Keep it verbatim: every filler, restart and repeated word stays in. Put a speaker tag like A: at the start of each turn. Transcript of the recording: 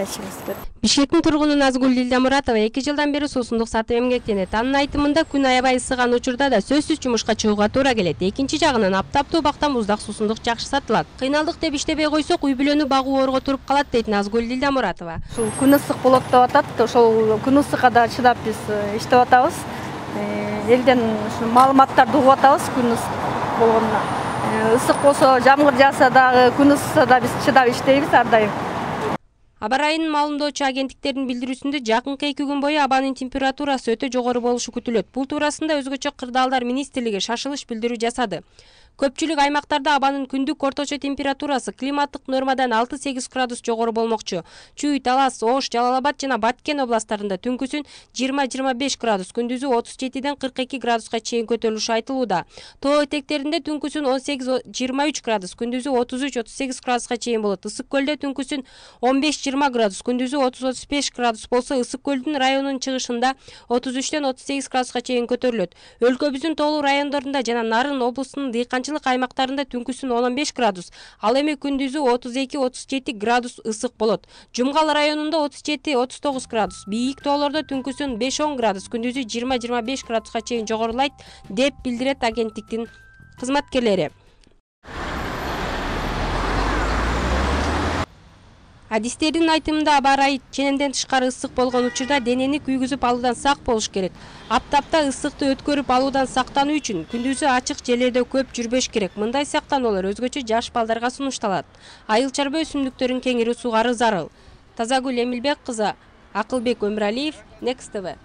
A: айтышыбыз керек.
B: Бишкектин тургуну Назгүл Дилдамуратова эки жылдан бери суусундук сатып эмгектенет. Анын айтымында күн аябай ысыган учурда да сөзсүз жумушка чыгууга туура келет. Экинчи жагынан аптаптуу убакта муздак суусундук жакшы сатылат. Кыйналдык деп иштебей койсок, үй бүлөнү багуу оорго туруп калат дейт Назгүл Дилдамуратова.
A: Ушул күн ысык болот деп атат. Ошол күн ысыкка да чыдап биз иштеп атабыз. Элден ушул маалыматтарды угуп атабыз күн ысык болгонуна. Ысык болсо, жамгыр жааса дагы, күн ысыкса да биз чыдап иштейбиз ар дайым.
B: Аба райынын маалымдоочу агенттиктердин билдирүүсүндө жакынкы эки күн бою абанын температурасы өтө жогору болушу күтүлөт. Бул туурасында өзгөчө Кырдаалдар министрлиги шашылыш билдирүү жасады. Көпчүлүк аймактарда абанын күндүк орточо температурасы климаттык нормадан алты-сегиз градус жогору болмокчу. Чүй, Талас, Ош, Жалал Абад жана Баткен областтарында түнкүсүн жыйырма-жыйырма беш градус, күндүзү отуз жетиден кырк эки градуска чейин көтөрүлүшү айтылууда. Тоо этектеринде түнкүсүн он сегиз-жыйырма үч градус, күндүзү отуз үч-отуз сегиз градуска чейин болот. Ысык көлдө түнкүсүн он беш-жыйырма градус, күндүзү отуз-отуз беш градус болсо, Ысык көлдүн районунун чыгышында отуз үчтөн отуз сегиз градуска чейин көтөрүлөт. Өлкөбүздүн тоолуу райондорунда жана Нарын облусунун дыйканчылык аймактарында түнкүсүн он беш градус, ал эми күндүзү отуз эки-отуз жети градус ысык болот. Жумгал районунда отуз жети-отуз тогуз градус, бийик тоолордо түнкүсүн беш-он градус, күндүзү жыйырма-жыйырма беш градуска чейин жогорулайт деп билдирет агенттиктин кызматкерлери. Адистердин айтымында аба ырайы ченемден тышкары ысык болгон учурда денени күйгүзүп алуудан сак болуш керек. Аптапта ысыкты өткөрүп алуудан сактануу үчүн күндүзү ачык жерлерде көп жүрбөш керек. Мындай сактануулар өзгөчө жаш балдарга сунушталат. Айыл чарба өсүмдүктөрүн кеңири сугаруу зарыл. Тазагүл Эмилбек кызы, Акылбек Өмүралиев, Next T V.